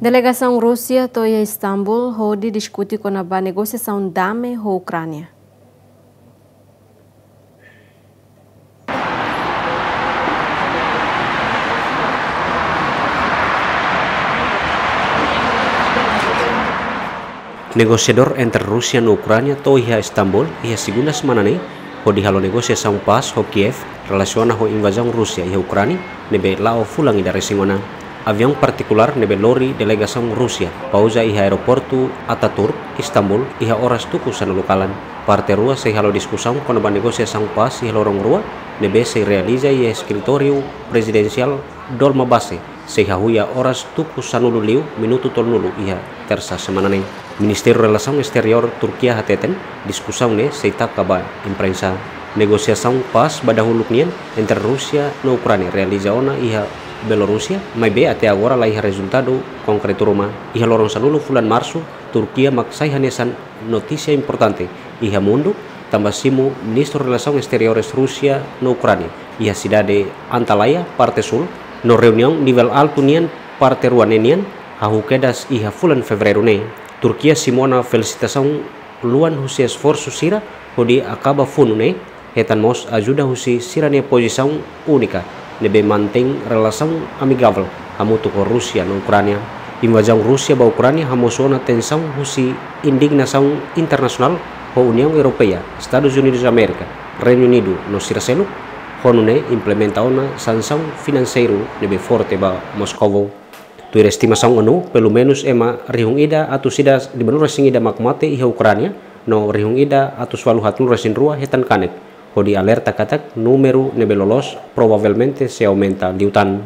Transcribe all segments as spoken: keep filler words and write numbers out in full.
Delegasaun Rúsia to'o iha Istambul hodi diskute kona-ba negosiasaun dame ho Ukránia. Negosiadór entre Rúsia no Ukránia to'o iha Istambul iha segunda semana ne'e, hodi halo negosiasaun pás ho Kiev relasiona ho invazaun Rúsia iha Ukránia ne'ebé la'o fulan ida resin ona. Aviaun partikulár ne'ebé lori delegasaun Rúsia pouza iha aeroportu Ataturk, Istambul, iha oras tuku sanulu kalan. Parte rua sei halo diskusaun kona-ba negosiasaun pás iha loron rua ne'ebé sei realiza iha eskritóriu prezidensiál Dolmabahçe, sei hahú iha oras tuku sanulu liu minutu tolunulu iha Tersa semana ne'e. Ministériu Relasaun Esteriór Turkia hateten, diskusaun ne'e sei taka ba imprensa. Negosiasaun pás ba dahuluk nian entre Rúsia no Ukránia realiza ona iha Bielorúsia, maibé até agora laiha rezultadu konkretu ruma. Iha loron sanulu fulan Marsu, Turkia mak sai hanesan notísia importante iha mundu, tanba simu Ministru Relasaun Esteriores Rúsia no Ukránia iha sidade Antalya, parte súl, no reuniaun nivel altu nian parte rua ne'e nian hahú kedas iha fulan Fevereiru ne'e. Turkia simu ona felisitasaun luan husi esforsu sira hodi akaba funu ne'e, hetan mós ajuda husi sira-nia pozisaun únika ne'ebé mantein relasaun amigavel hamutuk ho Rúsia no Ukránia. Invazaun Rúsia ba Ukránia hamosu ona tensaun husi indignasaun internasionál ho Uniaun Europeia, Estadus Unidus Amérika, Reinu Unidu no sira seluk, ho nune'e implementa ona sansaun finanseiru ne'ebé forte ba Moskovu. Tuir estimasaun ONU, pelumenus ema rihun ida atus ida limanulu resin ida mak mate iha Ukránia, no rihun ida atus walu haatnulu resin rua hetan kanek, hodi alerta katak númeru ne'ebé loloos provavelmente sei aumenta liután.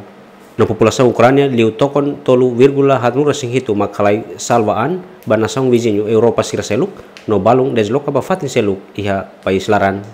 No populasaun Ukránia liu tokon tolu vírgula haatnulu resin hitu mak halai salva an ba nasaun viziñu Europa sira seluk, no balun desloka ba fatin seluk iha país laran.